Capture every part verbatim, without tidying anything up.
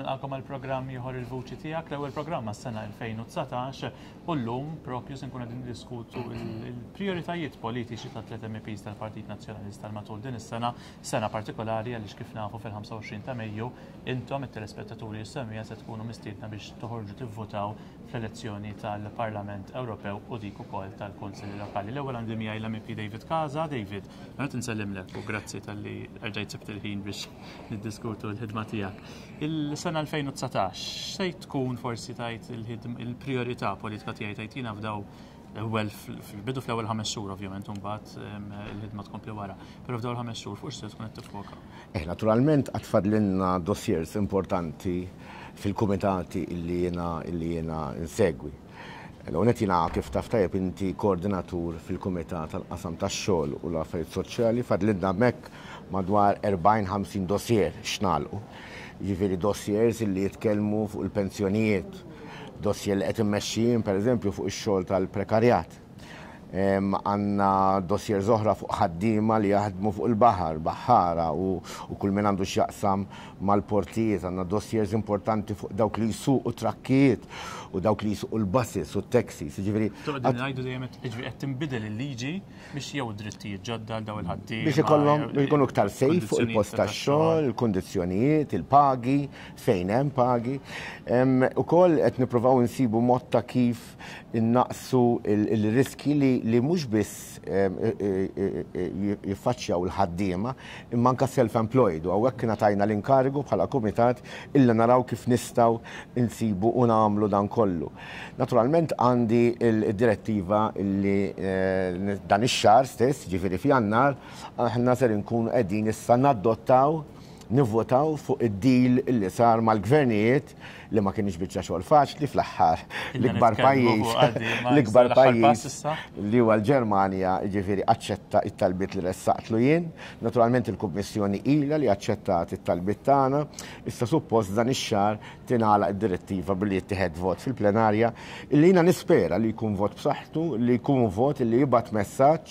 Nilqagħkom għal programm ieħor, Il-Vuċi Tiegħek, l-ewwel programm għas-sena elfejn u dsatax, u llum propju se nkunu qegħdin niddiskutu il-prijoritajiet politiċi ta' tliet M Ps tal-Partit Nazzjonalista matul din is-sena, sena partikolari għaliex, kif nafu, fil-ħamsa u għoxrin ta' Mejju intom it-telespettaturi s-semmiegħa se tkunu mistiedna biex toħorġu tivvutaw fl-elezzjoni tal-Parlament Ewropew u dik ukoll tal-Kunsilli Lokali. L-ewwel għandi miegħi l-M P David Casa. David, għanet insellimlek u grazzi talli erġajt sibt il-ħin biex niddiskutu l-ħidma tiegħek. Il-sena elfejn u dsatax, se tkun forsi tajt il-priorità politika tiegħi tajt jiena f'daw l-ewwel, fil-bidu, fl-ewwel ħames xhur ovvjament, imbagħad il-ħidma tkompli wara. Però f'daw l-ħames xhur fuq se tkun qed tiffoka? Eh, naturalment għad fadlilna dossiers importanti fil-kumitati illi jiena illi jiena insegwi. L-għonet, jiena, kif taf tajjeb inti, koordinatur fil-Kumitat tal-Qasam tax-Xogħol u l-Affarijiet Soċjali. Fadlilna hemmhekk madwar erbgħin ħamsin dossier x'nagħlqu. Jiġifieri dossiers illi jitkellmu fuq il-pensjonijiet, dossier li qed immexxijin, pereżempju, fuq ix-xogħol tal-prekarjat. Għandna dossier oħra fuq ħaddiema li jaħdmu fuq il-baħar, baħħara u, u kull min għandu x'jaqsam mal-portijiet. Għandna dossiers importanti fuq dawk li jsuqu trakkijiet u dawk li jsuqu l-buses u t-taxis. Jiġifieri Toqgħod ngħidu dejjem, jiġifieri qed tinbidel il-liġi biex jew drittijiet ġodda għal daw il-ħaddiema. Biex ikollhom jkunu iktar safe fuq il-post tax-xogħol, il-kundizzjonijiet, il-pagi, fejn hemm pagi. Ukoll qed nippruvaw insibu mod ta' kif innaqsu il-riski li li mhux biss jiffaċċjaw il-ħaddiema imma anka self-employed, u hawnhekk ngħatajna l-inkarigu bħala kumitat illa naraw kif nistgħu insibu u nagħmlu dan kollu. Naturalment għandi il-direttiva illi eh, dan ix-xahar stess, ġifieri f'Jannar, aħna ser inkunu qegħdin issa nadottaw, nivvotaw fuq id-deal illi sar mal-gvernijiet, li ma kienx biċċa xogħol faċli. Fl-aħħar l-ikbar pajjiż l-ikbar pajjiż li huwa l-Ġermanja, ġifieri, aċċetta it-talbiet li ressaqtlu jien. Naturalment il-Kummissjoni ilha li aċċettat it-talbiet tagħna. Issa suppost dan ix-xahar tingħalaq id-direttiva billi jittieħed vot fil-plenarja, illi jiena nispera li jkun vot b'saħħtu, li jkun vot illi jibgħat messaġġ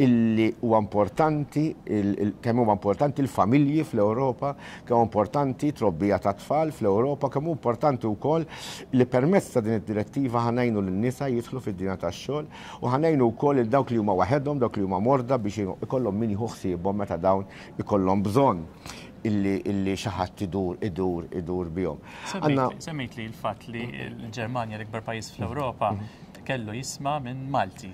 illi huwa importanti, kemm huwa importanti l-familji fl-Ewropa, kemm importanti trobbija ta' tfal fl-Ewropa, kemm hu importanti wkoll li permezz ta' din id-direttiva ħa ngħinu lin-nisa jidħlu fid-dinja tax-xogħol u ħa ngħinu wkoll il dawk li huma waħedhom, dawk li huma morda, biex ikollhom min jieħu ħsiebhom meta dawn ikollhom bżonn illi illi xi ħadd idur idur idur bihom. Semmejt li l-fatt li l-Ġermanja, l-ikbar pajjiż fl-Ewropa, kellu jisma' minn Malti.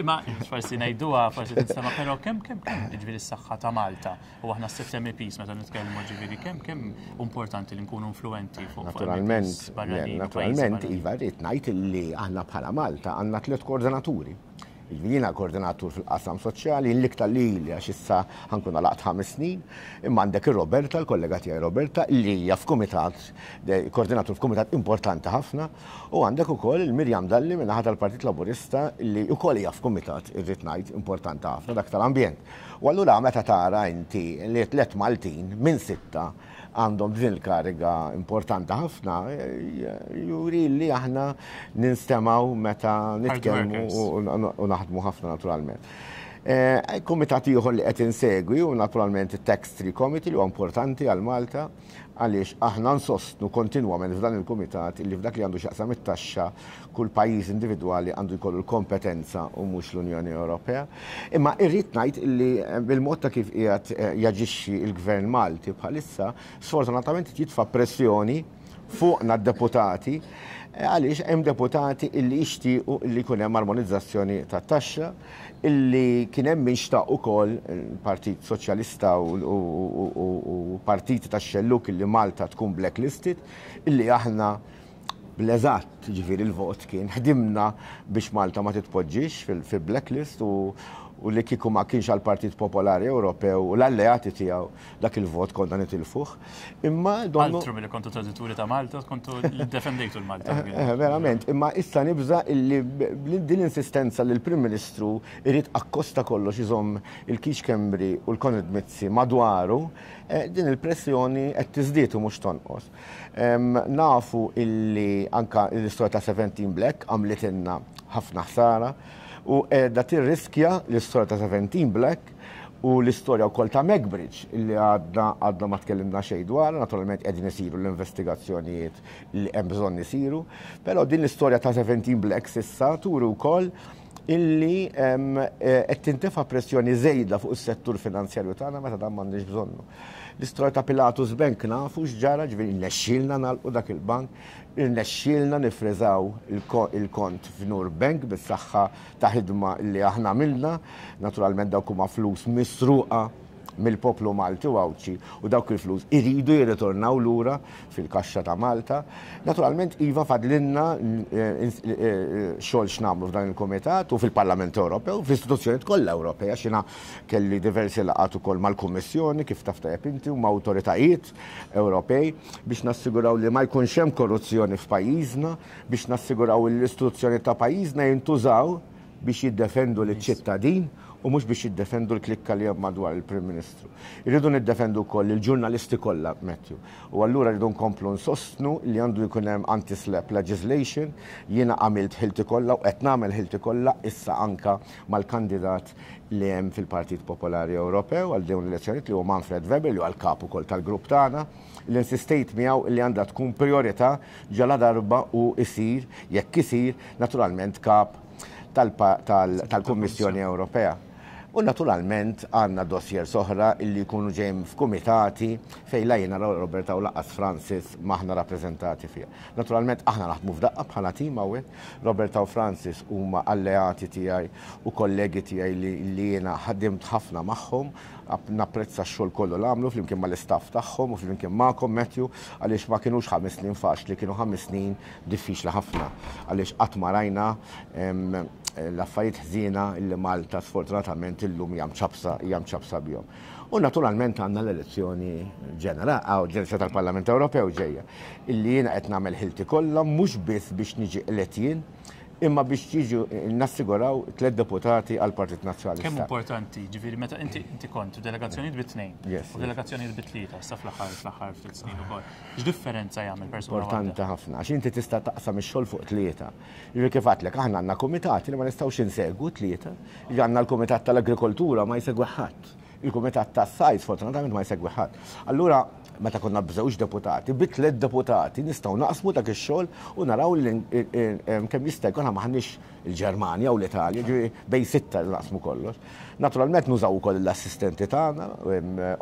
Ma forsi ngħiduha, forsi tinstema', però kemm kemm kemm ġifieri s-saħħa ta' Malta u aħna s-sitt M Ps meta nitkellmu, ġifieri kemm kemm importanti li nkunu influenti fuq Naturalment, naturalment, iva, rrid ngħid illi aħna bħala Malta għandna tliet koordinaturi. Jiena koordinatur fil-qasam soċjali, l-iktar li li għax issa ħa nkun għalaqt ħames snin, imma għandek il-Roberta, l-kollega tiegħi Roberta, li hija f'kumitat, koordinatur f'kumitat importanti ħafna, u għandek ukoll il-Mirjam Dalli min-naħa tal-Partit Laburista, li ukoll hija f'kumitat, irrid ngħid, importanti ħafna, dak tal-ambjent. U allura meta tara inti li tliet Maltin minn sitta għandhom din il-kariga importanti ħafna, juri li aħna ninstemgħu meta nitkellmu u naħdmu ħafna naturalment. Eh, Kumitat ieħor li qed insegwi u naturalment it-Tax Three Committee, li huwa importanti għal Malta għaliex aħna nsostnu kontinwament f'dan il-kumitat li f'dak li għandu x'jaqsam it-taxxa kull pajjiż individwali għandu jkollu l-kompetenza u mhux l-Unjoni Ewropea. Imma irrid ngħid li eh, bil-mod ta' kif qiegħed eh, jaġixxi il-Gvern Malti bħalissa, sfortunatament jitfa' pressjoni fuqna d-deputati, eh, għaliex hemm deputati illi jixtiequ illi jkun hemm armonizzazzjoni tat-taxxa, illi kien hemm min xtaq ukoll, il-Partit Soċjalista u, u, u, u partiti tax-xelluk, illi Malta tkun blacklisted, illi aħna bl-eżatt, ġifieri il-vot kien, ħdimna biex Malta ma titpoġġix fil-blacklist u, u li kieku ma kienx għal Partit Popolari Ewropew u l-alleati tiegħu, dak il-vot konna nitilfuh. Imma donnu Altru milli kontu tradituri ta' Malta, kontu defendejtu l-Malta. Eh, verament, imma issa nibża illi din l-insistenza li l-Prim Ministru irid akkosta kollox iżomm il-Keith Schembri u l-Konrad Mizzi madwaru, eh, din il-pressjoni qed tiżdied u mhux tonqos. Nafu illi anka l-istorja ta' seventeen Black għamlitilna ħafna ħsara u qiegħda tirriskja l-istorja ta' seventeen Black. U l-istorja wkoll ta' MacBridge li għadna għadna ma tkellimna xejn dwar, naturalment qegħdin isiru l-investigazzjonijiet li hemm bżonn isiru, però din l-istorja ta' seventeen Blacks issa turi wkoll illi qed tintefa' pressjoni żejda fuq is-settur finanzjarju tagħna meta dan m'għandniex bżonnu. L-istorja ta' Pilatus Bank nafu x'ġara, ġifieri nnexxielna nagħlqu dak il-bank, irnexxielna nifriżaw il-kont f'Nur Bank bis-saħħa ta' ħidma li aħna għamilna, naturalment dawk huma flus misruqa mill-poplu Malti u Għawdxi u dawk il-flus iridu jirritornaw lura fil-kaxxa ta' Malta. Naturalment iva fadlinna xogħol x'nagħmlu f'dan il-Kumitat u fil-Parlament Ewropew, fl-istituzzjonijiet kollha Ewropej, għax jiena kelli diversi laqgħat ukoll mal-Kummissjoni kif taf tajjeb inti u ma' awtoritajiet Ewropej biex nassiguraw li ma jkunx hemm korruzzjoni f'pajjiżna, biex nassiguraw li l-istituzzjoni ta' pajjiżna jintużaw biex jiddefendu liċ-ċittadin u mhux biex jiddefendu l-klikka li hemm madwar il-Prim Ministru. Irridu niddefendu wkoll il-ġurnalisti kollha, Matthew. U allura rridu nkomplu nsostnu li għandu jkun hemm anti-slap legislation. Jiena għamilt ħilti kollha u qed nagħmel ħilti kollha issa anka mal-kandidat li hemm fil-Partit Popolari Ewropew għal dawn l-elezzjonijiet li huwa Manfred Weber li huwa l-kap ukoll tal-grupp tagħna, li insistejt miegħu li għandha tkun priorità ġala darba u isir, jekk isir, naturalment kap tal-Kummissjoni Ewropea. U naturalment għandna dossier soħra illi jkunu ġejjin f'kumitati fejn la jiena Roberta u laqas Francis maħna rappreżentati fiha. Naturalment aħna naħdmu f'daqqa bħala tim hawnhekk. Roberta u Francis huma alleati tiegħi u kollegi tiegħi li jiena ħadimt ħafna magħhom, napprezza x-xogħol kollu li għamlu flimkien mal-istaff tagħhom u flimkien magħkom Matthew, għaliex ma kinux ħames snin faċli, kienu ħames snin diffiċli ħafna għaliex qatt ma rajna l-affarijiet ħżiena li Malta sfortunatament illum hija mċabsa, hija mċabsa bihom. U naturalment għandna l-elezzjoni ġenerali, għaw, l-elezzjoni tal-Parlament Ewropew ġejja, illi jiena qed nagħmel ħilti kollha mhux biss biex niġi elett jien, imma biex jiġu nassiguraw tliet deputati għal Partit Nazzjonalista. Kemm importanti, ġifieri meta inti inti kont delegazzjonijiet bi tnejn Yes, u delegazzjonijiet bi tlieta sa fl-aħħar fl-aħħar ftit snin ukoll. X'differenza jagħmel persuna waħda? Importanti ħafna, għax inti tista' taqsam ix-xogħol fuq tlieta. Jiġifieri kif għedtlek, aħna għandna kumitati li ma nistgħux insegwu tlieta. Jiġifieri għandna l-Kumitat tal-Agrikoltura ma jsegwi ħadd. Il-Kumitat tas-Sajd sfortunatament ma jsegwi ħadd. Allura meta konna b'żewġ deputati, bi tliet deputati nistgħu naqsmu dak ix-xogħol u naraw li kemm jista' jkun m'aħniex il-Ġermanja u l-Italja, ġifieri bejn sitta naqsmu kollox. Naturalment nużaw ukoll l-assistenti tagħna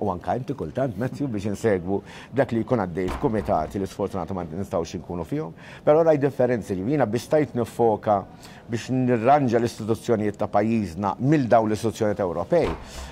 u anke inti kultant Matthew biex insegwu dak li jkun għaddej f'kumitati li sfortunatament nistgħux inkunu fihom. Però raj differenzi li jiena biex stajt nifoka biex nirranġa l-istituzzjonijiet ta' pajjiżna mill dawn l-istituzzjonijiet Ewropej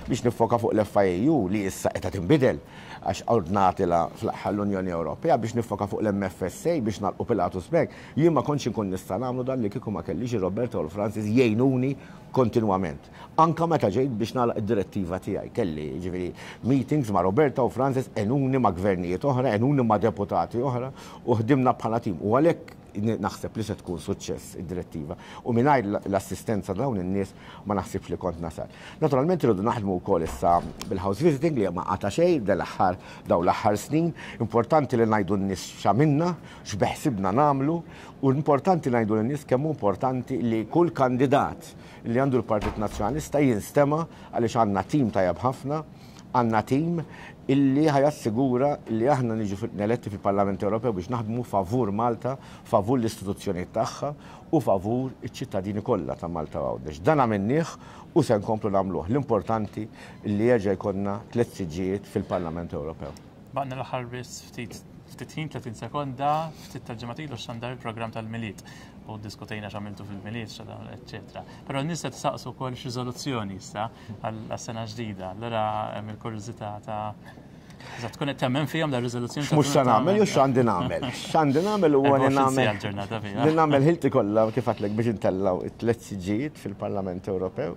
biex nifoka fuq l-F I A U li issa qed tinbidel għax ordnatila fl-aħħar l-Unjoni Ewropea biex nifoka fuq l-M F S A biex nagħlqu Pilatus Bank. Jien ma kontx inkun nista' nagħmlu dan li kieku ma kellix Roberta u Francis jgħinuni kontinwament. Anka meta ġejt biex nagħlaq id-direttiva tiegħi, kelli ġifieri meetings ma' Roberta u Francis, għenuni ma' gvernijiet oħra, għenuni ma' deputati oħra u ħdimna bħala tim. U għalhekk naħseb li se tkun suċċess id-direttiva. U mingħajr l-assistenza dawn in-nies ma naħsibx li kont nasal. Naturalment irridu naħdmu wkoll issa bil-house visiting li ma qata' xejn dal-aħħar dawn l-aħħar snin. Importanti li ngħidu n-nies x'għamilna, x'beħsibna nagħmlu, u importanti ngħidu lin-nies kemm hu importanti li kull kandidat li għandu l-Partit Nazzjonalista jinstema' għaliex għandna tim tajjeb ħafna, għandna tim illi ħajassigura li aħna niġu eletti fil-Parlament Ewropew biex naħdmu favur Malta, favur l-istituzzjonijiet tagħha u favur iċ-ċittadini kollha ta' Malta u Għawdex. Dan għamilnieh u se nkomplu nagħmluh. L-importanti li jerġa' jkollna tliet siġġijiet fil-Parlament Ewropew. Baqna l-aħħar biss ftit ftit ħin, tletin sekonda, ftit tal-ġimgħat ilu xandar il-programm tal-Milied u diskutejna x'għamiltu fil-Milied, x'għamiltu, eċċetera. Però n-nies qed tisaqsu wkoll x'riżoluzzjoni issa għas-sena ġdida. Allura hemm il-kurżità ta' Eżatt, tkun qed temmen fihom dar riżoluzzjoni ta' Mhux se tkun qed nagħmel, jew tagħmel. x'għandi nagħmel. X'għandi nagħmel huwa li Erbgħa u għoxrin nagħmel siegħa l-ġurnata fiha. li nagħmel ħilti kollha kif għedtlek biex intellgħu it-tliet siġġijiet fil-Parlament Ewropew.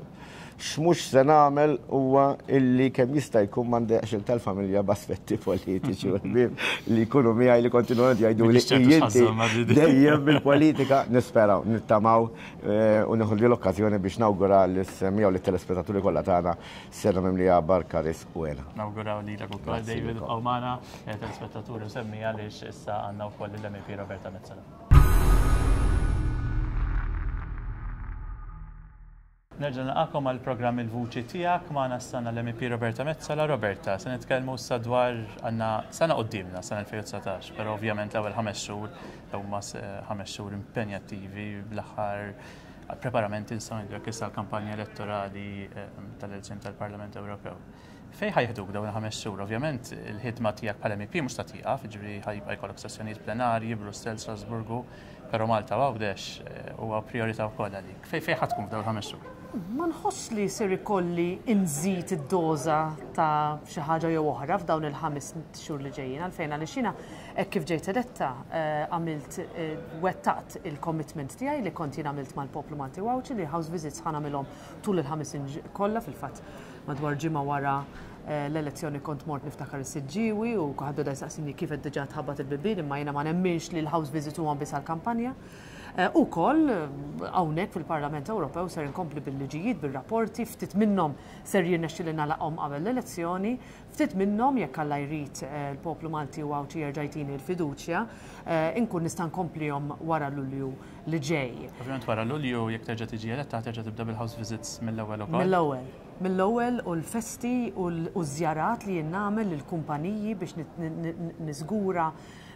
X'mhux se nagħmel huwa illi kemm jista' jkun m'għandekx il tal-familja b'aspetti politiċi u ħbieb li jkunu miegħi li kontinwament jgħidu li Mhix ċertu inti x'ħażhom ma' di. dejjem bil-politika nisperaw, nittamaw, eh, u nieħu l-okkażjoni biex nawgura lis-semmiegħa u lit-telespettaturi kollha tagħna sena mimlija barka, risq u hena. Nawguraw lilek ukoll, Grazzi David, lilkom. u magħna, eh, telespettaturi u semmiegħa għaliex issa għandna wkoll l-M E P Roberta Metsola. Nerġa' nilqagħkom għal programm Il-Vuċi Tiegħek. Magħna s-sana l-M E P Roberta Metsola. Roberta, se nitkellmu issa dwar għandna sena quddiemna, sena elfejn u dsatax, però ovvjament l-ewwel ħames xhur huma ħames xhur impenjattivi bl-aħħar preparamenti nistgħu ngħidu issa l-kampanja elettorali eh, tal-elezzjoni tal-Parlament Ewropew. Fejn ħa jeħduk dawn il-ħames xhur? Ovvjament il-ħidma tiegħek bħala M E P mhux ta' tieqaf, jiġifieri ħa jibqa' jkollok sessjonijiet plenarji, Brussell, Strasburgu, però Malta Għawdex eh, huwa priorità wkoll għalik. Fejn fejn ħa tkun f'dawn il-ħames xhur? Ma nħoss li ser ikolli nżid id-doża ta' xi ħaġa jew oħra f'dawn il-ħames xhur li ġejjin, għalfejn għaliex jiena hekk kif ġejt eletta eh, għamilt eh, wettaqt il-commitment tiegħi li kont jien għamilt mal-poplu Malti u Għawdxi li house visits ħa nagħmilhom tul il-ħames snin kollha. Fil-fatt, madwar ġimgħa wara eh, l-elezzjoni kont mort, niftakar, is-Siġġiewi u kulħadd beda jsaqsini kif qed diġà tħabbat il-bibien, imma jiena ma nemminx li l-house visit huwa biss għall-kampanja. U koll, hawnhekk fil-Parlament Ewropew ser inkompli bil-liġijiet, bil-rapporti, ftit minnhom ser jirnexxili nagħlaqhom qabel l-elezzjoni, ftit minnhom, jekk Alla jrid, il-poplu Malti u Għawdxi jerġa' jtini l-fiduċja, inkun nista' nkomplihom wara Lulju li ġej. Ovvjament wara Lulju, jekk terġa' tiġi eletta, terġa' tibda bil-house visits mill-ewwel ukoll. Mill-ewwel. Mill-ewwel, u l-festi u l-żjarat li jien nagħmel lill-kumpaniji biex niżgura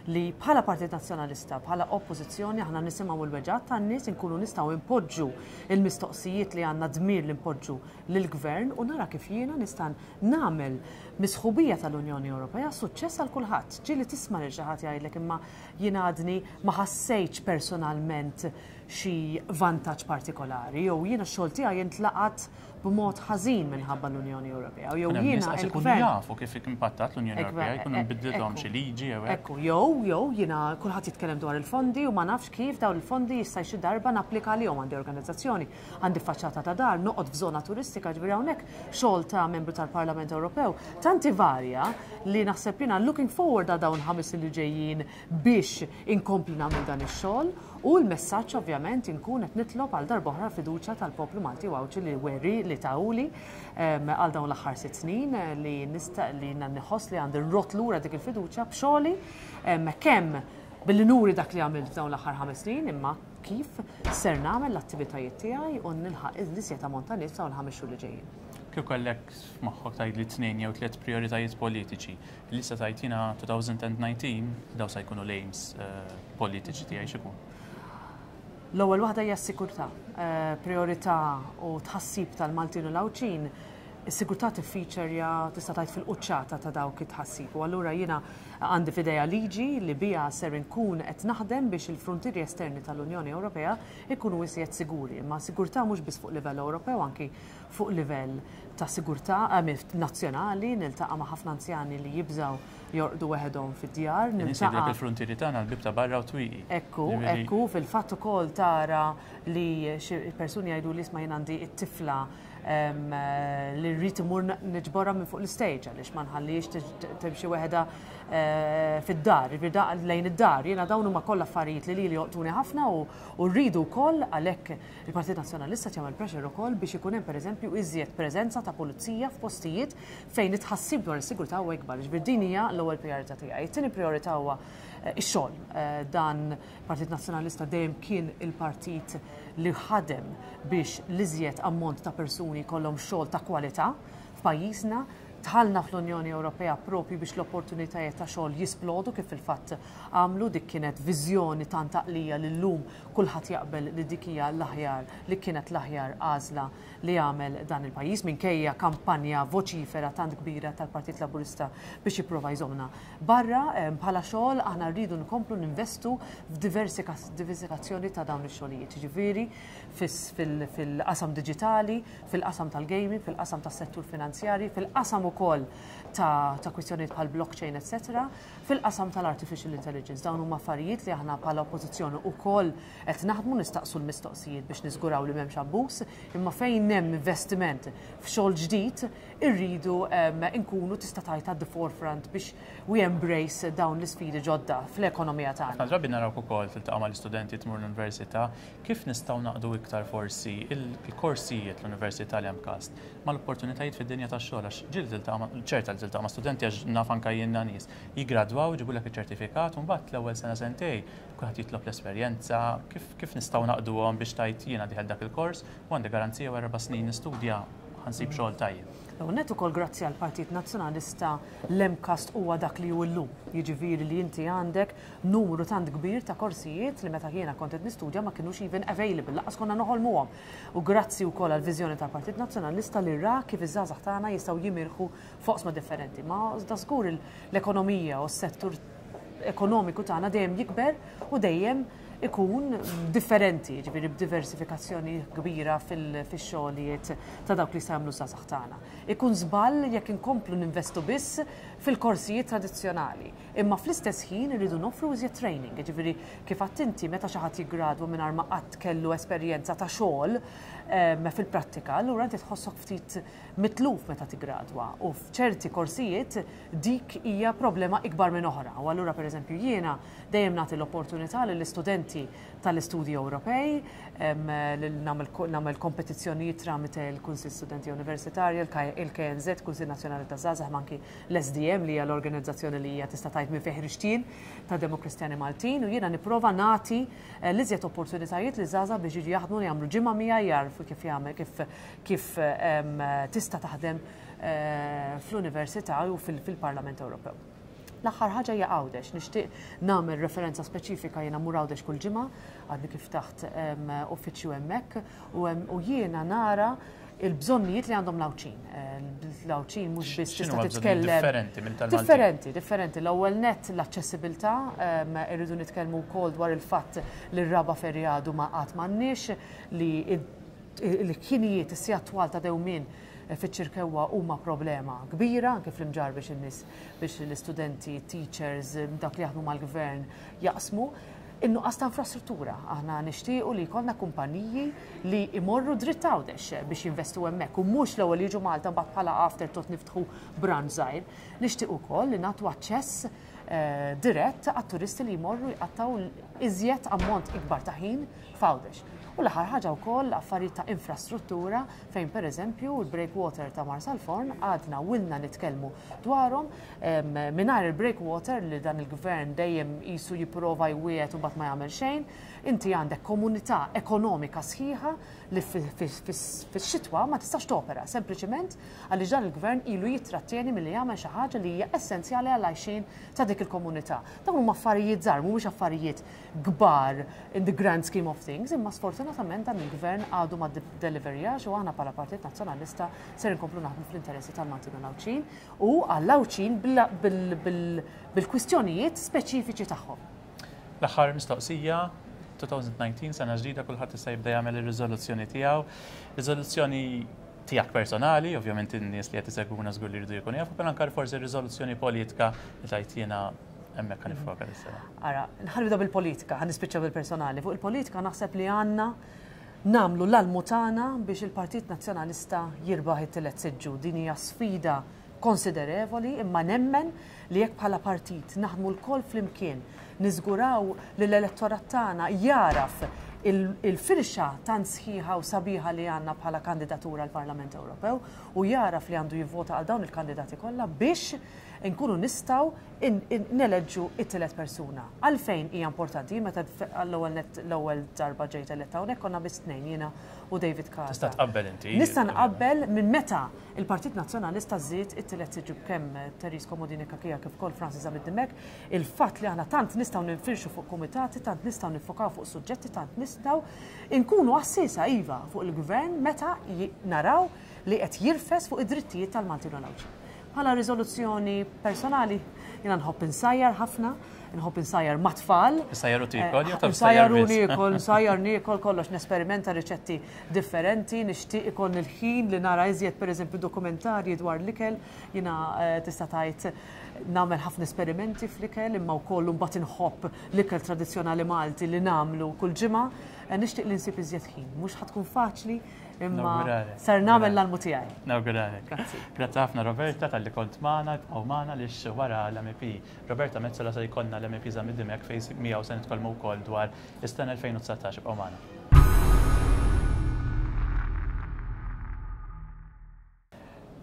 li bħala Partit Nazzjonalista, bħala oppożizzjoni, aħna nisimgħu l-weġgħat tan-nies, inkunu nistgħu impoġġu il-mistoqsijiet li għandna dmir li npoġġu lill-gvern u nara kif jiena nista' nagħmel mis-sħubija tal-Unjoni Ewropea suċċess għal kulħadd. Ġieli tisma' lil xi ħadd jgħidlek, "Imma jiena għadni ma ħassejtx personalment xi vantaġġ partikolari", jew "Jiena x-xogħol tiegħi jintlaqat b'mod ħażin minħabba l-Unjoni Ewropea". Jew jiena il-gvern jafu kif impattat l-Unjoni Ewropea, jkunu bidlithom xi liġi jew hekk. Ekku, jew jew jiena kulħadd jitkellem dwar il-fondi u ma nafx kif dawn il-fondi jista' xi darba napplika għalihom, għandi organizzazzjoni, għandi faċċata ta' dar, noqgħod f'żona turistika. Ġifieri hawnhekk xogħol ta' membru tal-Parlament Ewropew tanti varja li naħseb jiena looking forward għal dawn ħames li ġejjin biex inkompli nagħmel dan ix-xogħol. U l-messaġġ ovvjament inkun qed nitlob għal darb'oħra fiduċja tal-poplu Malti u Għawdxi li weri li tawli għal dawn l-aħħar sitt snin, li nista' li nħoss li għandi rrodd lura dik il-fiduċja b'xogħli, kemm billi nuri dak li għamilt f'dawn l-aħħar ħames snin, imma kif ser nagħmel l-attivitajiet tiegħi u nilħaq l-iżjed ammont ta' nies dawn il-ħames xhur li ġejjin. Kif kellek f'moħħok tgħid li tnejn jew tliet prioritajiet politiċi li se tgħid, "Jiena elfejn u dsatax daw se jkunu l-aims eh, politiċi tiegħi", x'ikun? L-ewwel waħda hija s-sigurtà. Eh, priorità u tħassib tal-Maltin u l-Għawdxin, is-sigurtà tiffiċerja, tista' tgħid, fil-quċċata ta' dawk it-tħassib. U allura jiena għandi f'idejja liġi li bija ser inkun qed naħdem biex il-frontieri esterni tal-Unjoni Ewropea ikunu iżjed siguri. Ma sigurtà mhux biss fuq livell Ewropew, anki fuq livell ta' sigurtà eh, nazzjonali. Niltaqa' ma' ħafna anzjani li jibżaw jorqdu weħedhom fid-djar. Niltaqa' il-frontieri tagħna, l-bib ta' barra u twieqi. Ekku, ekku, fil-fatt ukoll tara li xi persuni jgħidu li, "Isma', jien għandi it-tifla li rrid imur niġborha minn fuq l-stage għaliex ma nħallix timxi weħeda eh, fid-dar, lejn id-dar." Jiena dawn huma kollha affarijiet li li joqtuni ħafna u rridu wkoll, għalhekk il-Partit Nazzjonalista jagħmel pressure ukoll biex ikun hemm, pereżempju, iżjed preżenza ta' pulizija f'postijiet fejn it-tħassib dwar is-sigurtà huwa ikbar. Ġifier din hija l-ewwel priorità tiegħi. It-tieni priorità huwa eh, ix-xogħol. Eh, dan Partit Nazzjonalista dejjem kien il-partit li ħadem biex l-iżjed ammont ta' persuni kollhom xogħol ta' kwalità f'pajjiżna. Dħalna fl-Unjoni Ewropea propju biex l-opportunitajiet ta' xogħol jisplodu, kif fil-fatt għamlu. Dik kienet viżjoni tant għaqlija li llum kulħadd jaqbel li dik hija l-aħjar li kienet l-aħjar għażla li għamel dan il-pajjiż, minkejja kampanja voċifera tant kbira tal-Partit Laburista biex jipprova jżommna barra. Bħala xogħol, aħna rridu nkomplu ninvestu f'diversifikazzjoni ta' dawn ix-xogħlijiet. Ġifieri fil-qasam diġitali, fil-qasam tal-gaming, fil-qasam tas-settur finanzjari, fil-qasam ukoll ta', ta kwistjonijiet bħal blockchain, et cetera, fil-qasam tal-artificial intelligence. Dawn huma affarijiet li aħna bħala oppożizzjoni ukoll qed naħdmu, nistaqsu l-mistoqsijiet biex niżguraw li m'hemmx abbuż, imma fejn hemm investiment f'xogħol ġdid irridu nkunu, tista' tgħid, at the forefront biex we embrace dawn l-isfidi ġodda fl-ekonomija tagħna. Ħafna drabi narawk ukoll tiltaqa' mal-istudenti, tmur l-università, kif nistgħu naqdu iktar forsi il-korsijiet l-università li hemm kast mal-opportunitajiet fid-dinja tax-xogħol, għax ġieli tiltaqa' ċerta li tiltaqa' ma' studenti għax naf anke jiena nies. Jiggradwaw, jġibulek iċ-ċertifikat u mbagħad l-ewwel sena sentej kulħadd jitlob l-esperjenza, kif kif nistgħu naqduhom biex tajt jiena dieħel dak il-kors u għandi garanzija wara erba' snin nistudja ħa nsib xogħol tajjeb. U net ukoll grazzi għal Partit Nazzjonalista l-MCAST huwa dak li hu llum. Jiġifieri li inti għandek numru tant kbir ta' korsijiet li meta jiena kont qed nistudja ma kinux even available, lanqas konna noħolmuhom. U grazzi wkoll għal viżjoni tal-Partit Nazzjonalista li ra kif iż-żgħażagħ tagħna jistgħu jimirħu f'oqsma differenti. Ma da żgur l-ekonomija u s-settur ekonomiku tagħna dejjem jikber u dejjem ikun differenti, ġifieri b'diversifikazzjoni kbira fil-xogħlijiet ta' dawk li jagħmlu żgħażagħ tagħna. Ikun żball jekk inkomplu ninvestu biss fil-korsijiet tradizzjonali, imma fl-istess ħin irridu noffru iżjed training, ġifieri kif inti meta xi ħadd jiggradwa mingħajr ma qatt kellu esperjenza ta' xogħol fil-prattika, allura inti tħossok ftit mitluf meta tiggradwa u f'ċerti korsijiet dik hija problema ikbar minn oħra. U allura pereżempju jiena dejjem nagħti l-opportunità lill-istudenti tal-istudji Ewropej, nagħmel kompetizzjonijiet tramite l-Kunsill Studenti Universitarji, il-K N Z, Kunsill Nazzjonali ta' Żgħażagħ, anki l-S D M li hija l-organizzazzjoni li hija tista' tgħid minn fejn ħriġt ta' Demokristjani Maltin, u jiena nipprova nagħti eh, l-iżjed opportunitajiet li żgħażagħ biex jiġu jaħdmu, jagħmlu ġimgħa miegħi, jarfu kif jagħmel kif kif tista' taħdem eh, fl-Università u fil-Parlament Ewropew. L-aħħar ħaġa hija Għawdex, nixtieq nagħmel referenza speċifika. Jiena mur Għawdex kull ġimgħa, għadni kif taħt uffiċċju hemmhekk u jiena nara il-bżonnijiet li għandhom l-Għawdxin. L-Għawdxin mhux biss tista' titkellem. Differenti minn tal Differenti, differenti. L-ewwel net l-aċċessibilità, irridu nitkellmu wkoll dwar il-fatt li r-raba' ferry għadu ma qatt m'għandniex, li l-ħinijiet is-sigħat twal ta' dewmien fiċ-Ċirkewwa huma problema kbira, anke fl-Imġarr biex in-nies, biex l-istudenti, teachers, dak li jaħdmu mal-gvern jaqsmu. In-nuqqas ta' infrastruttura. Aħna nixtiequ li jkollna kumpaniji li imorru dritt Għawdex biex jinvestu hemmhekk u mhux l-ewwel jiġu Malta, mbagħad bħala afterthought niftħu branch żgħir. Nixtieq ukoll li nagħtu aċċess eh, dirett għat-turisti li jmorru jqattaw iżjed ammont ikbar ta' ħin f'Għawdex. U l-aħħar ħaġa wkoll affarijiet ta' infrastruttura fejn pereżempju il-breakwater ta' Marsalforn għadna ilna nitkellmu dwarhom. Mingħajr il-breakwater li dan il-gvern dejjem qisu jipprova jwiegħed u mbagħad ma jagħmel xejn, inti għandek komunità ekonomika sħiħa li fix-xitwa ma tistax topera, sempliċement għaliex dan il-gvern ilu jittrattieni milli jagħmel xi ħaġa li hija essenzjali għal għajxin ta' dik il-komunità. Dawn huma affarijiet żgħar, mhumiex affarijiet kbar in the grand scheme of things, imma sfortunatament dan il-gvern għadu ma deliverjax u aħna bħala Partit Nazzjonalista ser inkomplu naħdmu fl-interessi tal-Maltin u l-Għawdxin u għall-Għawdxin bil-kwistjonijiet speċifiċi tagħhom. L-aħħar mistoqsija, elfejn u dsatax, sena ġdida, kulħadd issa jibda jagħmel ir-riżoluzzjoni tiegħu. Riżoluzzjoni tiegħek personali, ovvjament in-nies li qed isegwuna żgur li jridu jkunu jafu, però anke forsi riżoluzzjoni politika li tajt jiena hemmhekk ħa niffoka dis-sena. Ara, ħa nibda bil-politika, ħa nispiċċa bil-personali. Fuq il-politika naħseb li għandna nagħmlu l-almu tagħna biex il-Partit Nazzjonalista jirbaħ it-tielet siġġu. Din hija sfida konsiderevoli, imma nemmen li jekk bħala partit naħdmu lkoll flimkien, niżguraw li l-elettorat tagħna jaraf il-firxa tant sħiħa u sabiħa li għandna bħala kandidatura għal Parlament Ewropew u jaraf li għandu jivvota għal dawn il-kandidati kollha biex nkunu nistgħu neleġġu it-tielet persuna. Għalfejn hija importanti? Meta l-ewwel l-ewwel darba ġejt eletta hawnhekk konna biss tnejn, jiena u David Casa. Tista' tqabbel inti. Nista' nqabbel minn meta il-Partit Nazzjonalista żied it-tielet siġġu kemm Therese Comodini Cachia kif ukoll Francis Zammit Dimech, il-fatt li aħna tant nistgħu ninfirxu fuq kumitati, tant nistgħu nifokaw fuq suġġetti, tant nistgħu nkunu għassisa iva fuq il-gvern meta naraw li qed jirfes fuq id-drittijiet tal-Maltin u l-Għawdxin. Bħala riżoluzzjoni personali, jiena nħobb insajjar ħafna, nħobb insajjar mat-tfal. Insajjar u tiekol, jew Insajjar u niekol, insajjar niekol kollox, nesperimenta riċetti differenti, nixtieq ikun il-ħin li nara iżjed pereżempju dokumentarji dwar l-ikel, jiena eh, tista' tgħid nagħmel ħafna esperimenti fl-ikel, imma wkoll mbagħad inħobb l-ikel tradizzjonali Malti li nagħmlu kull ġimgħa. Eh, nixtieq li nsib iżjed ħin, mhux ħa tkun faċli, imma sar nagħmel l-almu tiegħi. Nawguralek. Grazzi. Grazzi ħafna, Roberta, talli kont magħna, ibqgħu magħna għaliex wara l-M E P Roberta Metsola se jkollna l-M E P Zammit Dimech fejn miegħu se nitkellmu wkoll dwar is-sena elfejn u dsatax. Ibqgħu magħna.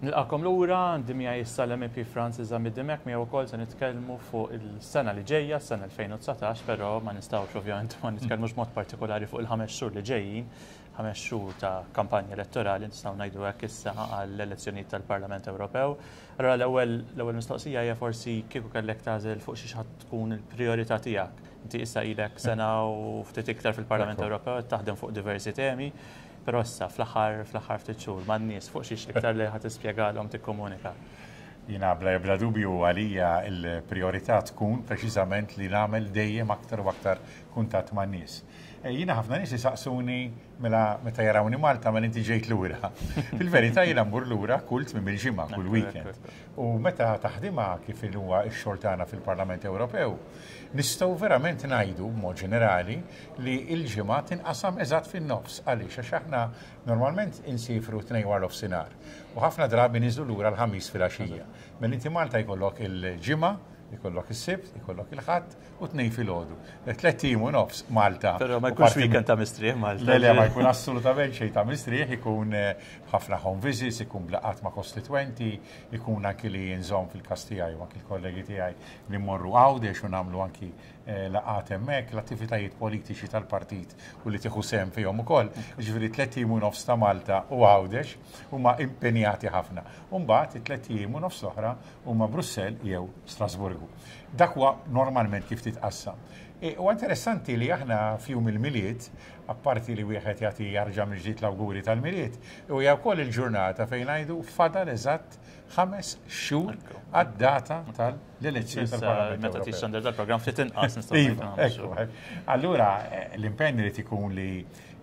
Nilqagħkom lura, għandi miegħi issa l-M E P Francis Zammit Dimech, miegħu wkoll se nitkellmu fuq il-sena li ġejja, s-sena elfejn u dsatax, però ma nistgħux ovvjament ma nitkellmux mod partikolari fuq il-ħames xhur li ġejjin, ħames xhur ta' kampanja elettorali, nistgħu ngħidu hekk issa, għall-elezzjonijiet tal-Parlament Ewropew. Allora l-ewwel l-ewwel mistoqsija hija forsi kieku kellek tagħżel fuq xi tkun il-priorità tiegħek. Inti issa ilek sena u ftit iktar fil-Parlament Ewropew, taħdem fuq diversi temi. Però issa fl-aħħar fl-aħħar ftit xhur man-nies fuq xiex iktar li ħa tispjegalhom, tikkomunika? Jiena bla bla dubju għalija il-priorità tkun preċiżament li nagħmel dejjem aktar u aktar kuntatt man-nies. E, jiena ħafna nies jisaqsuni mela meta jarawni Malta, "Mela inti ġejt lura?" Fil-verità jiena mmur lura kull tmiem il-ġimgħa, kull weekend. U meta taħdimha kif huwa x-xogħol tagħna fil-Parlament Ewropew, nistgħu verament ngħidu b'mod ġenerali li l-ġimgħa tinqasam eżatt fin-nofs. Għaliex? Għax aħna normalment insifru tnejn wara nofsinhar u ħafna drabi niżlu lura l-Ħamis filgħaxija. Mela inti Malta jkollok il-Ġimgħa, ikollok is-Sibt, ikollok il-Ħadd u tnejn filgħodu. Tlett ijiem u nofs Malta. Però ma jkunx weekend ta' mistrieħ Malta. Le, le, ma jkun assolutament xejn ta' mistrieħ, ikun eh, ħafna home visits, ikun laqgħat ma' kostitwenti, ikun anki li nżomm fil-każ tiegħi u anki l-kollegi tiegħi li mmorru Għawdex u nagħmlu anki eh, laqgħat hemmhekk, l-attivitajiet politiċi tal-partit u li tieħu sehem fihom ukoll. Ġifieri tlett ijiem u nofs ta' Malta u Għawdex huma impenjati ħafna. U mbagħad it-tlett ijiem u nofs oħra huma Brussell jew Strasburgu. Dak huwa normalment kif titqassam. E, u interessanti li aħna f'jum il-Milied, apparti li wieħed jagħti jarġa' mill-ġdid l-awguri tal-Milied, u hija wkoll il-ġurnata fejn ngħidu fadal eżatt ħames xhur għad-data tal-elezzjoni tal-Parlament. Meta tixxandar dal-programm ftit inqas nistgħu Iva, ekku. Allura eh, l-impenn li ikun li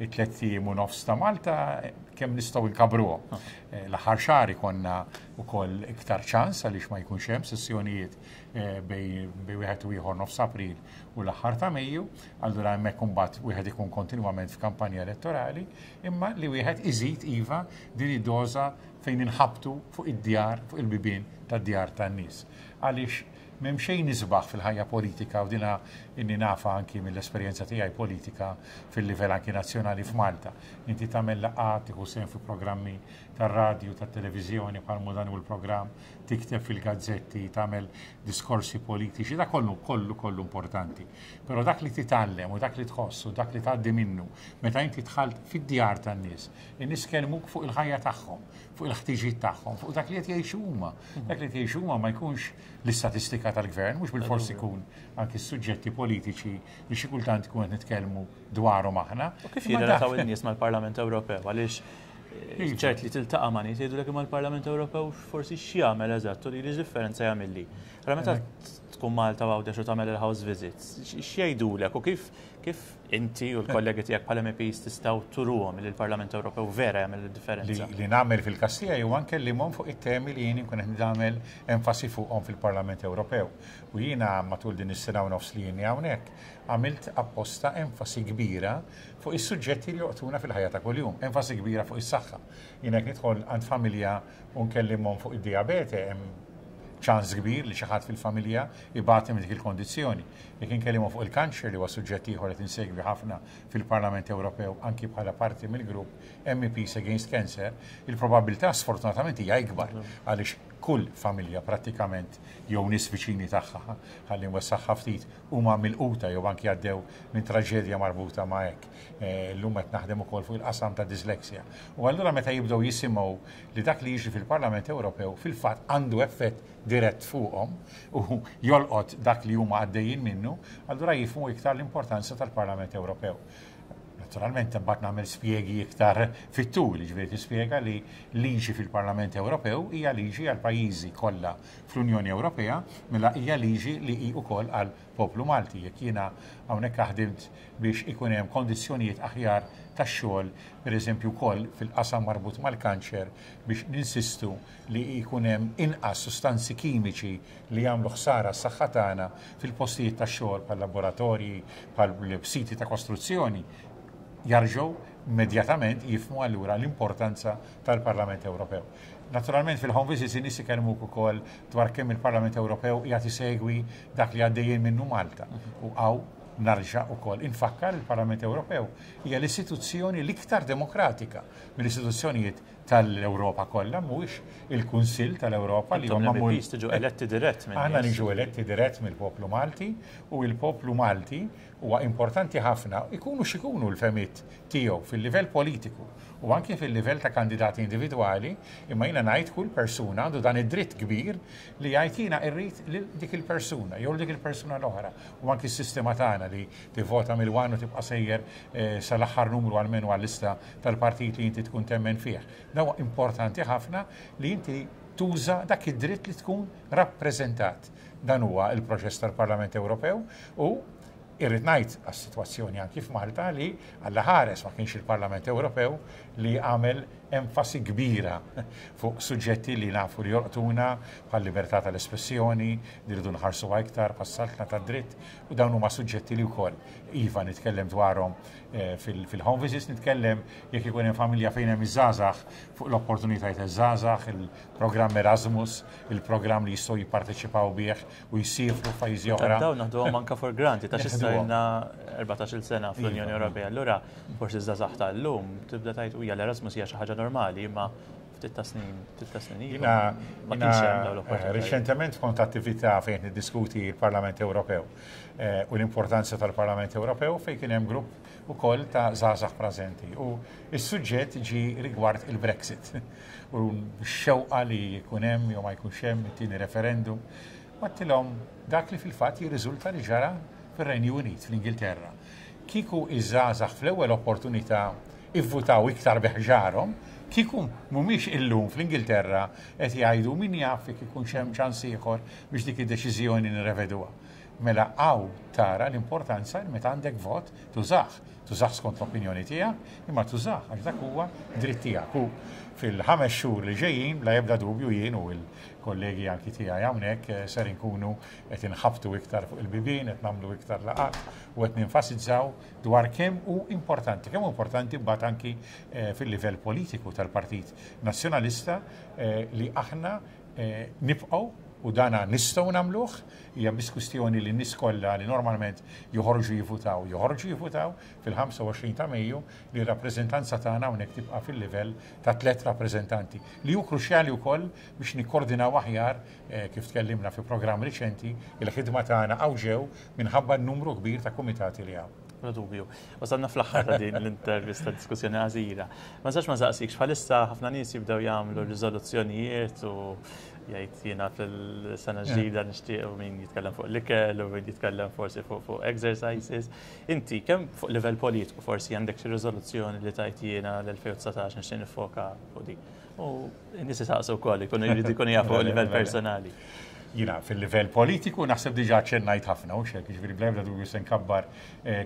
it-tlett ijiem u nofs ta' Malta eh, kemm nistgħu nkabruhom. Ah. Eh, l-aħħar xahar ikollna wkoll iktar ċans għaliex ma jkunx hemm sessjonijiet bejn wieħed u ieħor, nofs April u l-aħħar ta' Mejju, allura hemmhekk imbagħad wieħed ikun kontinwament f'kampanja elettorali, imma li wieħed iżid iva din id-doża fejn inħabtu fuq id-djar, fuq il-bibien tad-djar tan-nies. Għaliex m'hemm xejn isbaħ fil-ħajja politika, u dina inni nafa anki mill-esperjenza tiegħi politika fil-livell anki nazzjonali f'Malta. Inti tagħmel laqgħat, tieħu sehem fi programmi tar-radju, tat-televiżjoni bħal dan u l-programm, tikteb fil-gazzetti, tagħmel diskorsi politiċi, da kollu kollu kollu importanti. Però dak li titgħallem u dak li tħoss u dak li tgħaddi minnu meta inti dħalt fid-djar tan-nies, in-nies kellmuk fuq il-ħajja tagħhom, fuq il-ħtiġijiet tagħhom, fuq dak li qed jgħixu huma. Dak li qed jgħixu huma ma jkunx l-istatistika tal-gvern, mhux bil-fors ikun anki s-suġġetti politiċi li xi kultant ikun qed nitkellmu dwarhom aħna. U kif jirrelataw in-nies mal-Parlament Ewropew? Għaliex eh, ċert li tiltaqa' ma' nies jgħidulek, "Imma l-Parlament Ewropew forsi x'jagħmel eżatt u li differenza jagħmilli?" Allora meta tkun Malta Għawdex u tagħmel il-house visits, x'jgħidulek u kif kif inti u l-kollegi tiegħek bħala M Ps tistgħu turuhom li l-Parlament Ewropew vera jagħmel id-differenza? Li nagħmel fil-każ tiegħi u anke li fuq it-temi li jien nkun qed nagħmel enfasi fuqhom fil-Parlament Ewropew. U jiena matul din is-sena u nofs li jien hawnhekk għamilt apposta enfasi kbira fuq is-suġġetti li joqtuna fil-ħajja ta' kuljum, enfasi kbira fuq is-saħħa. Jiena jekk nidħol għand familja u nkellimhom fuq id-diabete, hemm ċans kbir li xi ħadd fil-familja ibati minn dik il-kondizzjoni. Jekk inkellmu fuq il-kanċer, li huwa suġġett ieħor qed insegwi ħafna fil-Parlament Ewropew anki bħala parti mill-grupp M E Ps Against Cancer, il-probabilità sfortunatament hija ikbar għaliex kull familja prattikament jew nies viċini tagħha, ħalli nwessaħħa ftit, huma milquta jew anki għaddew minn traġedja marbuta ma' hekk. Eh, llum qed naħdem ukoll fuq il-qasam ta' dyslexia. U allura meta jibdew jisimgħu li dak li jiġri fil-Parlament Ewropew fil-fatt għandu effett dirett fuqhom u jolqot dak li huma għaddejjin minnu, allura jifhmu iktar l-importanza tal-Parlament Ewropew. Naturalment, imbagħad nagħmel spjegi iktar fit-tul, ġifieri tispjega li liġi fil-Parlament Ewropew hija liġi għal pajjiżi kollha fl-Unjoni Ewropea, mela hija liġi li hi wkoll għal poplu Malti. Jekk jiena hawnhekk ħdimt biex ikun hemm kondizzjonijiet aħjar tax-xogħol, pereżempju wkoll fil-qasam marbut mal-kanċer, biex ninsistu li jkun hemm inqas sustanzi kimiċi li jagħmlu ħsara s-saħħa tagħna fil-postijiet tax-xogħol bħal laboratorji, bħal siti ta' kostruzzjoni, jarġgħu immedjatament jifhmu allura l-importanza tal-Parlament Ewropew. Naturalment fil-home visits in-nies ikellmuk ukoll dwar kemm il-Parlament Ewropew qiegħed isegwi dak li għaddejjin minnu Malta. U hawn narġa' ukoll infakkar, il-Parlament Ewropew hija l-istituzzjoni l-iktar demokratika mill-istituzzjonijiet tal-Ewropa kollha, mhuwiex il-Kunsill tal-Ewropa li huma tiġu eletti dirett minn. Aħna niġu eletti dirett mill-poplu Malti u l-poplu Malti huwa importanti ħafna ikunu x'ikunu l-fehmiet tiegħu fil-livell politiku u anke fil-livell ta' kandidati individwali, imma jiena ngħid kull persuna għandu dan id-dritt kbir li jgħid jiena irrid lil dik il-persuna jew dik il-persuna l-oħra. U anke s-sistema tagħna li tivvota mill-one u tibqa' sejjer sal-aħħar numru għalmenu għal-lista tal-partit li inti tkun temmen fih. Dan huwa importanti ħafna li inti tuża dak id-dritt li tkun rappreżentat. Dan huwa il-proċess tal-Parlament Ewropew u irrid ngħid għas-sitwazzjoni anki f'Malta li Alla ħares ma kienx il-Parlament Ewropew li għamel enfasi kbira fuq suġġetti li nafu li jolqtuna bħal libertà tal-espressjoni, li rridu nħarsu iktar bħas-saltna tad-dritt, u dawn huma suġġetti li wkoll iva nitkellem dwarhom fil-home visits, nitkellem jekk ikun hemm familja fejn hemm iż-żgħażagħ fuq l-opportunitajiet iż-żgħażagħ, il-programm Erasmus, il-programm li jistgħu jipparteċipaw bih u jsifru f'pajjiżi oħra. Dawn naħduhom anke for granted ta' x'issa ilna erbatax-il sena fl-Unjoni Ewropea. Allura forsi iż-żgħażagħ tal-lum tibda tgħid hija l-Erasmus hija xi ħaġa normali, imma ftit ta' snin, ftit ta' snin ilu, ma kienx hemm dawn l-opportunitajiet. Reċentement kont attività fejn niddiskuti l-Parlament Ewropew u l-importanza tal-Parlament Ewropew fejn kien hemm grupp ukoll ta' żgħażagħ preżenti. U s-suġġett ġi rigward il-Brexit u x-xewqa li jkun hemm jew ma jkunx hemm it-tieni referendum. Għedtilhom dak li fil-fatt jirriżulta li ġara fir-Renju Unit, fl-Ingilterra. Kieku iż-żgħażagħ fl-ewwel opportunità ivvutaw iktar biħġarhom, kieku mhumiex illum fl-Ingilterra qed jgħidu min jaf jekk ikunx hemm ċans ieħor biex dik id-deċiżjoni nirrevedуha. Mela hawn tara l-importanza li meta għandek vot tużah, tużah skont l-opinjoni tiegħek, imma tużah għax dak huwa dritt tiegħek. U fil-ħames xhur li ġejjin bla ebda dubju jien u l-kollegi anki tiegħi hawnhekk ser inkunu qed inħabtu iktar fuq il-bibien, qed nagħmlu iktar laqgħat u qed ninfasizzaw dwar kemm hu importanti, kemm hu importanti mbagħad anki fil-livell politiku tal-Partit Nazzjonalista li aħna nibqgħu u dana nistgħu nagħmluh, hija biss kwistjoni li n-nies kollha li normalment joħorġu jivvutaw, joħorġu jivvutaw fil-ħamsa u għoxrin ta' Mejju li r-rappreżentanza tagħna hawnhekk tibqa' fil-livell ta' tliet rappreżentanti li hu kruċjali wkoll biex nikkoordinaw aħjar kif tkellimna fi programm riċenti il-ħidma tagħna hawn ġew minħabba n-numru kbir ta' kumitati li hawn. Bla dubju. Wasalna fl-aħħar ta' din l-intervista diskussjoni għażira. Ma nistax ma nsaqsikx, bħalissa ħafna nies jibdew jagħmlu riżoluzzjonijiet u jgħid jiena fil-sena ġdida nixtieq u min jitkellem fuq l-ikel u min jitkellem forsi fuq fuq exercises. Inti kemm fuq livell politiku forsi għandek xi riżoluzzjoni li tajt jiena l-elfejn u dsatax nixtieq nifoka fuq din. U n-nies isaqsu wkoll ikunu jridu jkunu jafu fuq livell personali. Jiena fil-livell politiku naħseb diġà ċennajt ħafna u xek, jiġifieri bla ebda dubju se nkabbar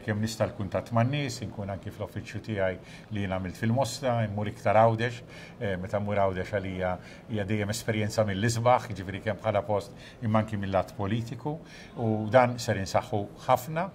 kemm nista' l-kuntatt man-nies, inkun anki fl-uffiċċju tiegħi li jien għamilt fil-Mosta, immur iktar Għawdex, meta mmur Għawdex għalija hija dejjem esperjenza mill-isbaħ, jiġifieri kemm bħala post imma anki mill-lat politiku, u dan ser insaħħu ħafna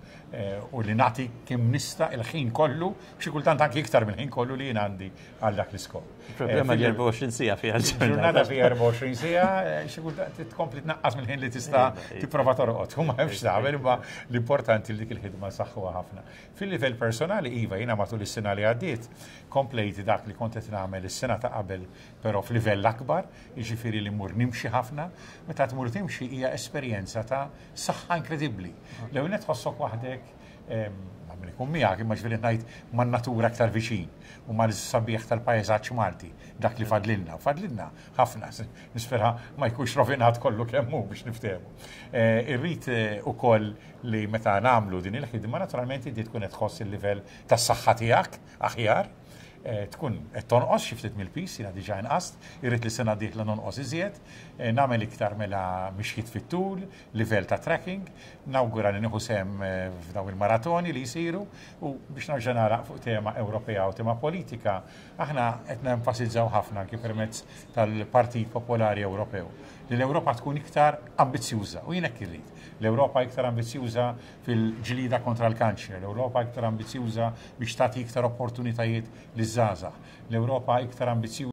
u li nagħti kemm nista' il-ħin kollu, xi kultant anki iktar mill-ħin kollu li jien għandi għal dak l-iskop. Il-problema li erbgħa u għoxrin siegħa fiha l-ġurnata. Il-ġurnata fiha erbgħa u għoxrin siegħa, xi kultant tkompli tnaqqas mill-ħin li tista' tipprova torqod. U ma hemmx tagħmel, imma l-importanti li dik il-ħidma saħħuha ħafna. Fil-livell personali, iva, jiena matul is-sena li għaddiet komplejt dak li kont qed nagħmel is-sena ta' qabel, però f'livell akbar, jiġifieri li mmur nimxi ħafna. Meta tmur timxi hija esperjenza ta' saħħa inkredibbli. L-ewwel nett tħossok waħdek, ma min ikun miegħek, imma ġifieri ngħid man-natura aktar viċin u mal-sabiħ tal-pajjeżaġġ Malti, dak li fadlilna, u fadlilna ħafna, nispera ma jkunx rovinat kollu kemm hu biex niftehmu. Irrid ukoll li meta nagħmlu din il-ħidma, naturalment inti tkun qed tħoss il-livell tas-saħħa tiegħek aħjar, tkun qed tonqos xi ftit mill-pis, jiena diġà inqast, irrid li sena dieħla nonqos iżjed, nagħmel iktar mela mixjiet fit-tul, livell ta' tracking, nawgura li nieħu sehem f'dawn il-maratoni li jsiru, u biex nerġa' nagħlaq fuq tema Ewropea u tema politika, aħna qed nenfasizzaw ħafna anki permezz tal-Partit Popolari Ewropew li l-Ewropa tkun iktar ambizzjuża, u jien hekk irrid. L-Ewropa iktar ambizzjuża fil-ġlida kontra l-kanċer, l-Ewropa iktar ambizzjuża biex tagħti iktar opportunitajiet liż-żgħażagħ, l-Ewropa iktar ambizzjuża